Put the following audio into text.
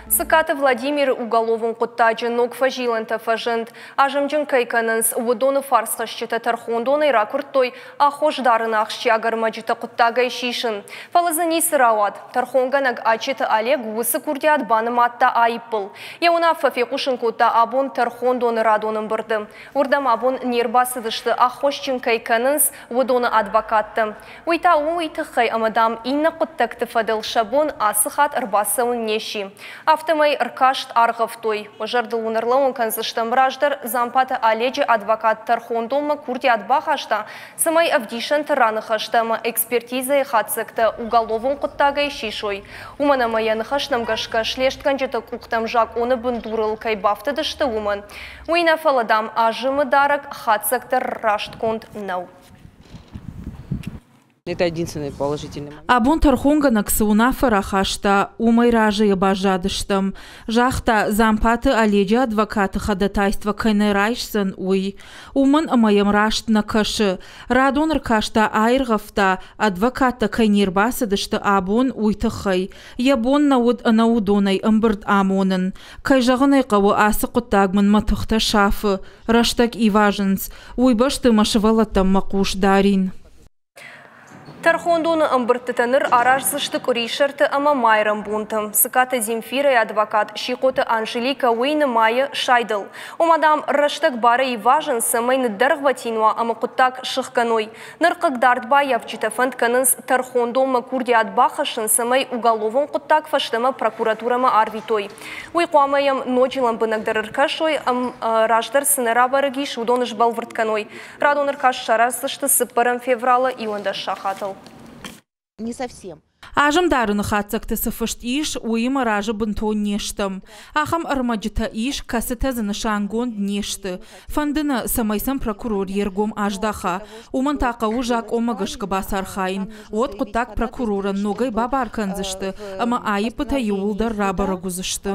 Цыкаты Владимиры уголовон хъуыддаджы ног фӕзилӕнтӕ фӕзынд. Азымджын кӕй кӕнынц, уыдоны фарсхӕсджытӕ тӕрхондонӕй ракуырдтой аххос дарыны ахсджиаг ӕрмӕджытӕ хъуыддагӕй сисын. Фӕлӕ дзы ницы рауад. Тӕрхонгӕнӕг Ачеты Олег уыцы курдиат банымадта аиппыл. Йӕ уынаффӕ фехъусын кодта абон тӕрхондоны радон ӕмбырды. Уырдӕм абон не рбацыдысты, аххосджын кӕй кӕнынц, уыдоны адвокаттӕ. Уый та у уый тыххӕй, ӕмӕ, дам, иннӕ хъуыддӕгты фӕдыл сӕ бон ацы хатт ӕрбацӕуын не сси. Афтӕмӕй ӕркаст аргъӕвтой. Уӕ зӕрдыл уын ӕрлӕууын кӕндзыстӕм, раздӕр Дзампаты Оледжы адвокат тӕрхондонмӕ курдиат бахаста, цӕмӕй ӕвдисӕнты раныхӕстӕ ӕмӕ экспертизӕйы хатдзӕгтӕ уголовон хъуыддагӕй сисой. Уымӕн ӕмӕ йӕ ныхӕстӕм гӕсгӕ слестгӕнджыты къухтӕм закъоны бындурыл кӕй бафтыдысты, уымӕн. Уый нӕ фӕлӕ, дам, азымы дарӕг хатдзӕг дӕр растгонд нӕу. Это единственный положительный момент. Абон тӕрхонгӕнӕг цы уынаффӕ рахаста, уымӕй разыйӕ баззадыстӕм, загъта Дзампаты Оледжы адвокаты ходатайство кӕй нӕ райсдзӕн, уый. Уымӕн ӕмӕ йӕм раст нӕ кӕсы. Радон ӕркаста аиргъӕвта, адвокаттӕ кӕй не рбацыдысты абон, уый тыххӕй. Йӕ бон нӕ уыд ӕнӕуыдонӕй ӕмбырд амонын. Кӕй зӕгъын ӕй хъӕуы, ацы хъуыддаг мын мӕ тыхтӕ сафы, рӕстӕг ивазынц. Уый бӕсты мӕ сывӕллӕттӕм мӕ хъус дарин. Тӕрхондоны ӕмбырдтытӕ ныр араздзысты къуырисӕрты ӕмӕ майрӕмбонты. Цыкаты Земфирӕйы адвокат Сихъоты Анжеликӕ уый нымайы сайдыл. Ома, дам, рӕстӕг барӕй ивазын, цӕмӕй ныддӕргъвӕтин уа ӕмӕ хъуыддаг сыхгӕной. Ныр хъыгдард баййафджытӕ фӕнд кӕнынц тӕрхондонмӕ курдиат бахӕссын, цӕмӕй уголовон хъуыддаг фӕстӕмӕ прокуратурӕмӕ арвитой. Уый хъуамӕ йӕм ноджы лӕмбынӕгдӕр ӕркӕсой, раздӕр цы нӕ рабӕрӕг ис, уыдон сбӕлвырд кӕной. Радон ӕркаст сараздзысты 4 февралы 11 сахатыл. Не совсем. Азым дарыны хатдзӕгты цы фыст ис, уыимӕ разы бынтон не стӕм. Ахӕм ӕрмӕджытӕ ис, кӕцытӕ дзы нысангонд не сты. Фӕнды нӕ, цӕмӕй сӕм прокурор йе ргом аздаха. Уымӕн та хъӕуы закъонмӕ гӕсгӕ бацархайын. Уӕд хъуыддаг прокурорӕн ногӕй бабар кӕндзысты ӕмӕ аиппытӕ иууылдӕр рабӕрӕг уыдзысты.